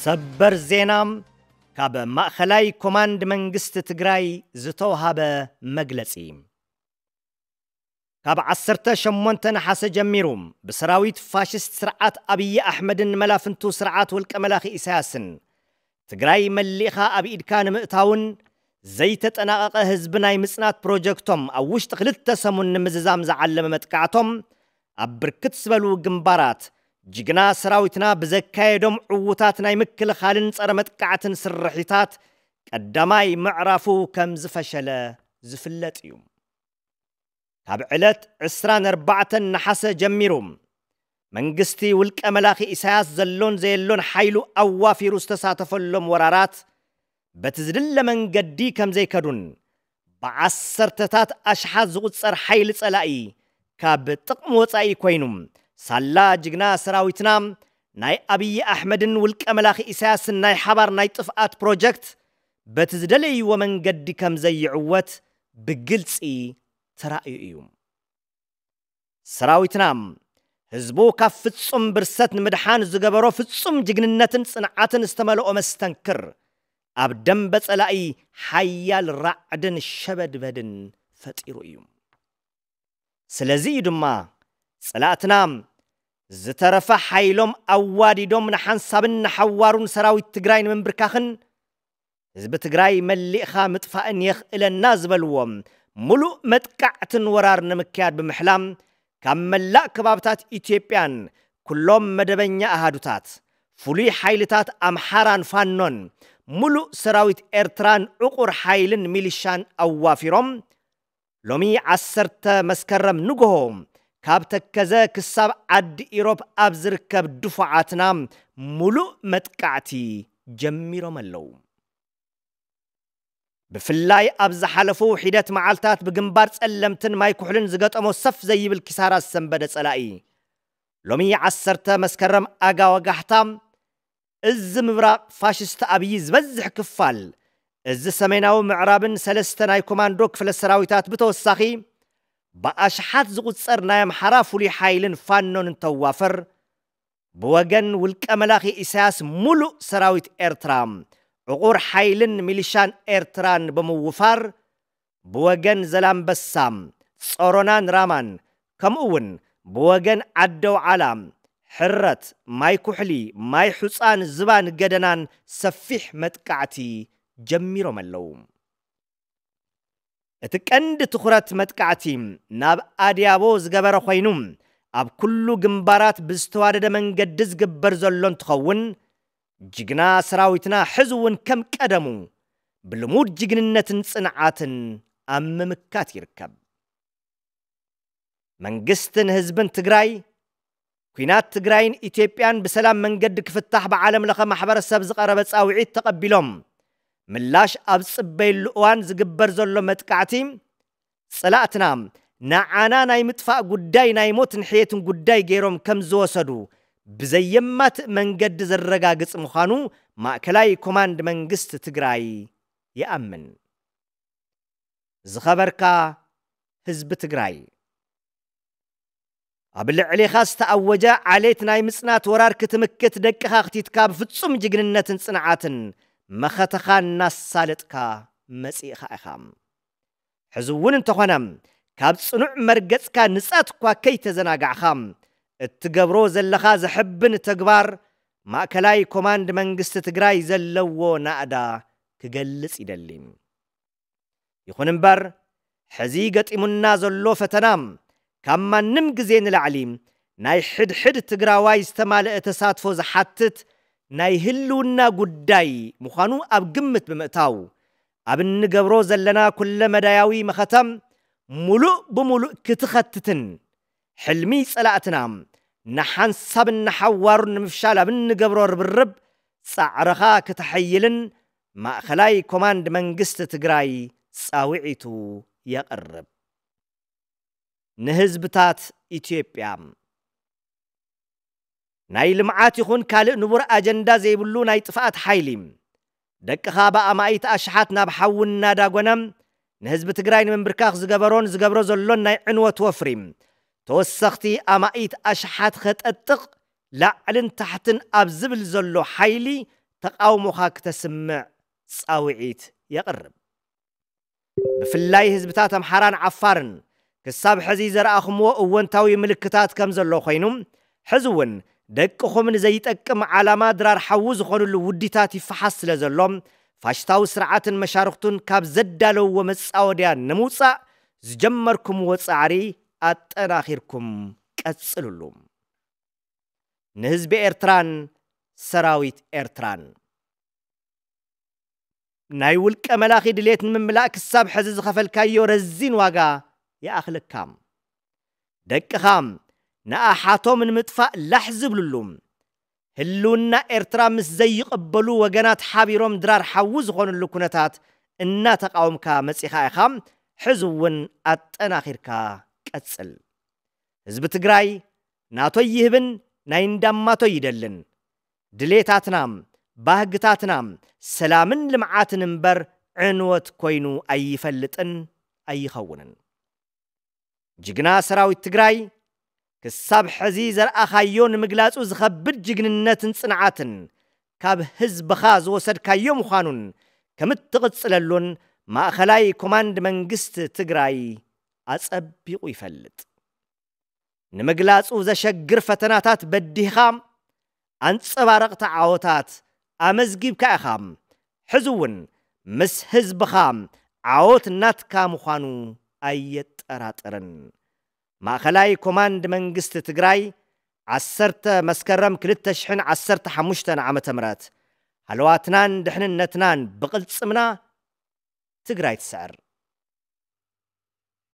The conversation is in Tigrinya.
ሰበር ዜና። ካብ ማእኸላይ ኮማንድ መንግስቲ ትግራይ ዝተውሃበ መግለጺ። ካብ ዓሰርተ ሸሞንተ ነሓሰ ጀሚሩ ብሰራዊት ፋሽስት ስርዓት ኣብይ ኣሕመድን መላፍንቱ ስርዓት ውልቀ መላኺ ኢሳያስን ትግራይ መሊእኻ ኣብ ኢድካ ንምእታውን ዘይተጠናቐቐ ህዝቢ ናይ ምጽናት ፕሮጀክቶም ኣብ ውሽጢ ክልተ ሰሙን ንምዝዛም ዝዓለመ መጥቃዕቶም ኣብ ብርክት ዝበሉ ግንባራት ጅግና ሰራዊትና ብዘካየዶም ዕዉታት ናይ ምክልኻልን ጸረ መጥቃዕትን ስርሒታት ቀዳማይ ምዕራፉ ከም ዝፈሸለ ዝፍለጥ እዩ። ካብ ዕለት ዕስራን ኣርባዕተን ነሓሰ ጀሚሩ መንግስቲ ውልቀ መላኺ ኢሳያስ ዘሎን ዘየሎን ሓይሉ ኣዋፊሩ ዝተሳተፈሎም ወራራት በቲ ዝድለ መንገዲ ከም ዘይከዱን ብዓሰርተታት ኣሽሓት ዝቑጸር ሓይሊ ጸላኢ ካብ ጥቕሚ ወጻኢ ኮይኑ ሳላ ጅግና ሰራዊትና ናይ ኣብይ ኣሕመድን ውልቀ መላኺ ኢሳያስን ናይ ሓባር ናይ ጥፍኣት ፕሮጀክት በቲ ዝደለይዎ መንገዲ ከም ዘይዕወት ብግልጺ ተራእዩ እዩ። ሰራዊትና ህዝቡ ካብ ፍጹም ብርሰት ንምድሓን ዝገበሮ ፍጹም ጅግንነትን ጽንዓትን ዝተመልኦ መስተንክር ኣብ ደንበ ጸላኢ ሓያል ራዕድን ሸበድበድን ፈጢሩ እዩ። ስለዚ እዩ ድማ ጸላእትና ዝተረፈ ሓይሎም ኣዋዲዶም ንሓንሳብን ንሓዋሩን ሰራዊት ትግራይ ንምንብርካኽን ህዝቢ ትግራይ መሊእኻ ምጥፋእን የኽእለና ዝበልዎም ሙሉእ መጥቃዕትን ወራር ንምክያድ ብምሕላም ካብ መላእ ከባብታት ኢትዮጵያን ኩሎም መደበኛ ኣሃዱታት ፍሉይ ሓይልታት ኣምሓራን ፋኖን ሙሉእ ሰራዊት ኤርትራን ዕቑር ሓይልን ሚሊሻን ኣዋፊሮም ሎሚ ዓሰርተ መስከረም ንግሆ ካብ ተከዘ ክሳብ ዓዲ ኢሮብ ኣብ ዝርከብ ድፉዓትና ሙሉእ መጥቃዕቲ ጀሚሮም ኣለዉ። ብፍላይ ኣብ ዝሓለፉ ሒደት መዓልታት ብግንባር ጸለምትን ማይ ኩሕልን ዝገጠሞ ሰፍ ዘይብል ኪሳራ ዝሰንበደ ጸላኢ ሎሚ ዓሰርተ መስከረም ኣጋ ወጋሕታ እዚ ምብራቕ ፋሽስት ኣብይ ዝበዝሕ ክፋል እዚ ሰሜናዊ ምዕራብን ሰለስተ ናይ ኮማንዶ ክፍለ ሰራዊታት ብተወሳኺ ብኣሽሓት ዝቑጸር ናይ ኣምሓራ ፍሉይ ሓይልን ፋኖን እንተዋፈር ብወገን ውልቀ መላኺ ኢሳያስ ሙሉእ ሰራዊት ኤርትራ ዕቑር ሓይልን ሚሊሻን ኤርትራን ብምውፋር ብወገን ዘላምበሳ ጾሮናን ራማን ከምኡ እውን ብወገን ዓደው ዓላ ሕረት ማይ ኩሕሊ ማይ ሑፃን ዝባን ገደናን ሰፊሕ መጥቃዕቲ ጀሚሮም ኣለዉ። እቲ ቀንዲ ትኹረት መጥቃዕቲ ናብ ኣድያቦ ዝገበረ ኮይኑ ኣብ ኩሉ ግንባራት ብዝተዋደደ መንገዲ ዝግበር ዘሎ እንትኸውን ጅግና ሰራዊትና ሕዚ እውን ከም ቀደሙ ብልሙድ ጅግንነትን ጽንዓትን ኣብ ምምካት ይርከብ። መንግስትን ህዝብን ትግራይ ኩናት ትግራይን ኢትዮጵያን ብሰላም መንገዲ ክፍታሕ ብዓለም ለኸ ማሕበረሰብ ዝቐረበ ጻውዒት ተቐቢሎም ምላሽ ኣብ ዝጽበየሉ እዋን ዝግበር ዘሎ መጥቃዕቲ ጸላእትና ንዓና ናይ ምጥፋእ ጉዳይ ናይ ሞትን ሕየትን ጉዳይ ገይሮም ከም ዝወሰዱ ብዘየማትእ መንገዲ ዘረጋግጽ ምዃኑ ማእከላይ ኮማንድ መንግስቲ ትግራይ ይኣምን። ዝኸበርካ ህዝቢ ትግራይ፣ ኣብ ልዕሌኻ ዝተኣወጀ ዓሌት ናይ ምጽናት ወራር ክትምክት ደቅኻ ኣኽቲትካ ብፍጹም ጅግንነትን ጽንዓትን መኸተኻ እናሳለጥካ መጺእኻ ኢኻ። ሕዚ እውን እንተኾነ ካብ ጽኑዕ መርገጽካ ንጻት እኳ ከይተዘናጋዕኻ እትገብሮ ዘለኻ ዘሕብን ተግባር ማእከላይ ኮማንድ መንግስቲ ትግራይ ዘለዎ ናእዳ ክገልጽ ይደሊ። ይኹን እምበር ሕዚ ገጢሙና ዘሎ ፈተና ካብ ማንም ግዜ ንላዕሊ ናይ ሕድሕድ ትግራዋይ ዝተማልአ ተሳትፎ ዝሓትት ናይ ህልውና ጉዳይ ምዃኑ ኣብ ግምት ብምእታው ኣብ እንገብሮ ዘለና ኩለ መዳያዊ መኸተ ሙሉእ ብሙሉእ ክትኸትትን ሕልሚ ጸላእትና ንሓንሳብን ንሓዋሩን ንምፍሻል ኣብ እንገብሮ ርብርብ ጻዕርኻ ክተሐይልን ማእኸላይ ኮማንድ መንግስቲ ትግራይ ጻውዒቱ የቕርብ። ንህዝብታት ኢትዮጵያ ናይ ልምዓት ይኹን ካልእ ንቡር ኣጀንዳ ዘይብሉ ናይ ጥፍኣት ሓይሊ ደቅኻ ብኣማኢት ኣሽሓት ናብ ሓዊ እናዳጎነ ንህዝቢ ትግራይ ንምንብርካኽ ዝገበሮን ዝገብሮ ዘሎን ናይ ዕንወት ወፍሪ ተወሰኽቲ ኣማኢት ኣሽሓት ኸጠጥቕ ላዕልን ታሕትን ኣብ ዝብል ዘሎ ሓይሊ ተቓውሞኻ ክተስምዕ ጻውዒት የቕርብ። ብፍላይ ህዝብታት ኣምሓራን ዓፋርን ክሳብ ሕዚ ዘርኣኹምዎ እወንታዊ ምልክታት ከም ዘሎ ኮይኑ፣ ሕዚ እውን ደቅኹም ንዘይጠቅም ዓላማ ድራር ሓዊ ዝኾኑሉ ውዲታት ይፈሓስ ስለ ዘሎ፣ ፋሽስታዊ ስርዓትን መሻርኽቱን ካብ ዘዳለውዎ መጻወድያ ንምውጻእ ዝጀመርኩምዎ ጻዕሪ ኣጠናኺርኩም ቀጽሉሉ። ንህዝቢ ኤርትራን ሰራዊት ኤርትራን። ናይ ውልቀ መላኺ ድሌት ንምምላእ ክሳብ ሕዚ ዝኸፈልካዮ ረዚን ዋጋ ይኣኽለካ። ደቅኻ ንኣሓቶም ንምጥፋእ ላሕ ዝብልሉ፣ ህልውና ኤርትራ ምስ ዘይቕበሉ ወገናት ሓቢሮም ድራር ሓዊ ዝኾንሉ ኩነታት እናተቃወምካ መጺኻ ኢኻ። ሕዚ እውን ኣጠናኺርካ ቀጽል። ህዝቢ ትግራይ ናቶይ ይህብን ናይ እንዳማቶይ ይደልን። ድሌታትና፣ ባህግታትና ሰላምን ልምዓትን እምበር ዕንወት ኮይኑ ኣይፈልጥን ኣይኸውንን። ጅግና ሰራዊት ትግራይ ክሳብ ሕዚ ዘርኣኻዮ ንምግላጹ ዝኸብድ ጅግንነትን ጽንዓትን ካብ ህዝብኻ ዝወሰድካዮ ምዃኑን ከም እትቕጽለሉን ማእኸላይ ኮማንድ መንግስቲ ትግራይ ኣጸቢቑ ይፈልጥ። ንምግላጹ ዘሸግር ፈተናታት በዲህኻ ኣንጸባረቕቲ ዓወታት ኣመዝጊብካ ኢኻ። ሕዚ እውን ምስ ህዝብኻ ዓወት ናትካ ምዃኑ ኣየጠራጥርን። ማእኸላይ ኮማንድ መንግስቲ ትግራይ፣ ዓሰርተ መስከረም ክልተ ሽሕን ዓሰርተ ሓሙሽተን ዓመተ ምህረት። ሃለዋትናን ድሕንነትናን ብቕልጽምና ትግራይ ትስዕር።